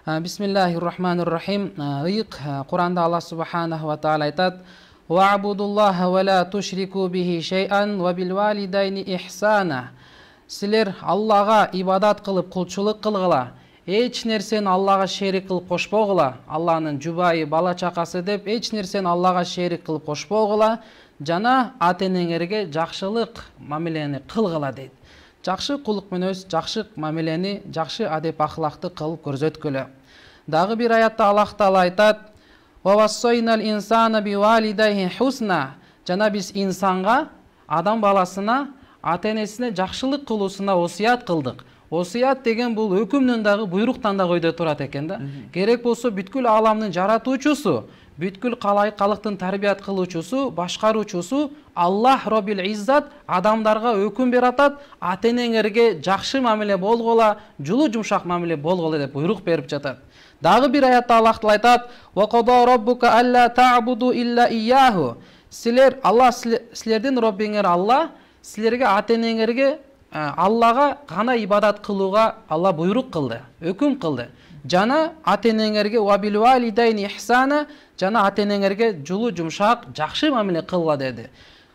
Бисмиллахир-рахманир-рахим. Ыйык Куранда Аллах субханаху ва таала айтат: "Ва'будуллаха ва ла тушрику бихи шей'ан ва бил валидайни ихсана." Силер Аллага ибадат кылып кулчулук кылгыла, эч нерсени Аллага шерик кылып кошпогула. Алланын жубайы, бала чакасы деп эч нерсени Аллага шерик кылып кошпогула, жана ата-энеңерге жакшылык мамилени кылгыла дейт. Жакшы кулук мүнөз, жакшы мамилени, жакшы адеп ахлакты кылып көрсөткүлө. Дагы бир аятта Аллах Таала айтат: "Ва вассайнал инсана бивалидайхи хусна." Жана биз инсанга, адам баласына, ата-энесине жакшылык кылуусуна осуят кылдык. Осуят деген бул өкүмдөн дагы, буйруктан да койдо турат экен да. Керек болсо бүткүл ааламдын жаратуучусу, бүткүл калыктын тарбият кылуучусу, башкаруучусу Аллах Роббил Иззат адамдарга өкүм берип атат: ата-энеңерге жакшы мамиле болгула, жулу жумшак мамиле болгула деп буйрук берип жатат. Дагы бир аятта Аллах Таала айтат: "Ва қада раббука алла та'буду илля ияху." Силер, Аллах силердин Роббиңер Алла, силерге ата-энеңерге Аллага гана ибадат кылууга Алла буйрук кылды, өкүм кылды. Жана ата-энеңерге ва бил валидайни ихсана, жана ата-энеңерге жулу жумшак, жакшы мамиле кылгыла деди.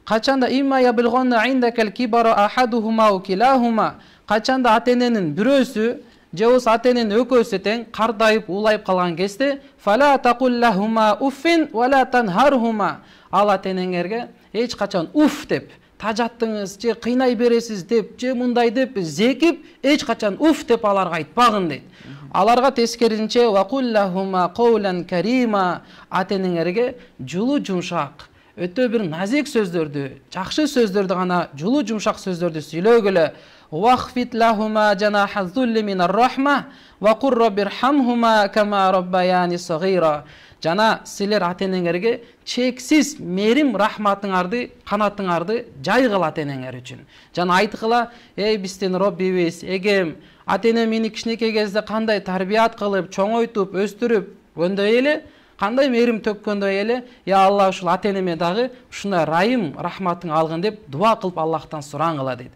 Качанда имма яблгонна индакал кибара ахадухума ва килахума, качанда ата-эненин бирөөсү же болбосо ата-эненин экөөсү тең кардайып, уулайып калган кезде фала тaqulлахума уффин ва ла танхархума, ал ата-энеңерге эч качан уф деп тажаттыңыз же кыйнай бересиз деп же мындай деп зекип эч качан уф деп аларга айтпагын дейт. Аларга тескерисинче вакуллахума каулан карима, ата-энеңерге жулу жумшак, өтө бир назик сөздөрдү, жакшы сөздөрдү гана, жулу жумшак сөздөрдү сүйлөгүлө. Вахфит лахума жанаха зулли минар рахма ва кур раббирхамхума кама раббаяни сагира. Жана силер ата-энеңерге чексиз мерим рахматыңарды, канатыңарды жайгыла ата-энеңер үчүн. Жана айткыла: "Эй биздин Роббибиз, эгем ата-энем мени кичинекей кезде кандай тарбият кылып, чоңойтуп, өстүрүп, өндөй эле, кандай мерим төккөндөй эле, я Алла ушул ата-энеме дагы ушундай райым рахматың алгын" деп дуа кылып Аллахтан сураңыла дейт.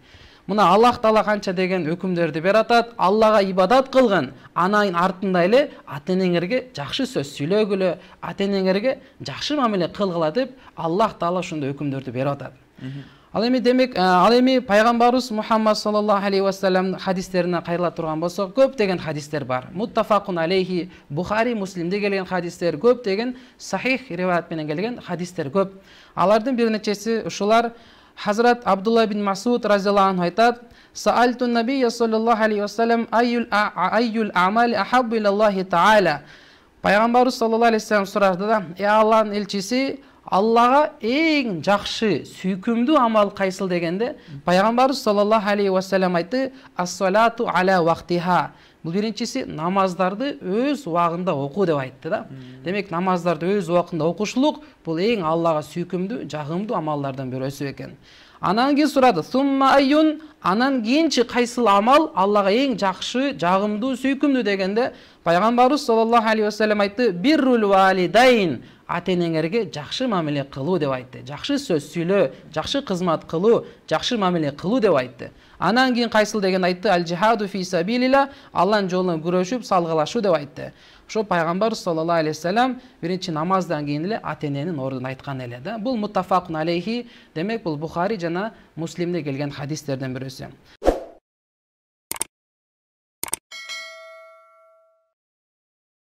Мына Аллах Таала канча деген өкүмдөрдү берип атат: Аллага ибадат кылгын, анын артында эле ата-энеңерге жакшы сөз сүйлөгүлө, ата-энеңерге жакшы мамиле кылгыла деп Аллах Таала ушундай өкүмдөрдү берип атат. Ал эми пайгамбарыбыз Мухаммад саллаллаху алейхи ва саллям хадистерине кайрыла турган болсок, көп деген хадистер бар. Муттафакун алейхи, Бухари, Муслимде келген хадистер көп, деген сахих риваят менен келген хадистер көп. Алардын бир нечеси ушулар. Хазрат Абдулла бин Масуд разияллаху анху айтат: "Саалту набийя саллаллаху алейхи ва саллям айюл амали ахаббу илаллахи таала." Пайгамбарыбыз саллаллаху алейхи ва саллям сурады да: Алланын элчиси, Аллага эң жакшы, сүйкүмдүү амал кайсыл дегенде, пайгамбарыбыз саллаллаху алейхи ва саллям айтты: "Ас-салату аля вактиха." Бул биринчиси намаздарды өз убагында окуу деп айтты да. Демек намаздарды өз убагында окушулук бул эң Аллага сүйкүмдүү, жагымдуу амалдардан бирөөсү экен. Анан кийин сурады: "Сумма айюн?" Анан кийинчи кайсыл амал Аллага эң жакшы, жагымдуу, сүйкүмдүү дегенде, пайгамбарыбыз саллаллаху алейхи ва саллям айтты: "Биррул валидайн." Ата-энеңерге жакшы мамиле кылуу деп айтты. Жакшы сөз сүйлөө, жакшы кызмат кылуу, жакшы мамиле кылуу деп айтты. Анан кийин кайсыл деген айтты: "Аль-жихаду фи сабилилла." Алланын жолунда күрөшүп, салгылашуу деп айтты. Ошо пайгамбар саллаллаху алейхи ва саллям биринчи намаздан кийин эле ата-эненин ордун айткан эле да. Бул муттафакун алейхи, демек бул Бухари жана Муслимде келген хадистерден бирөөсү.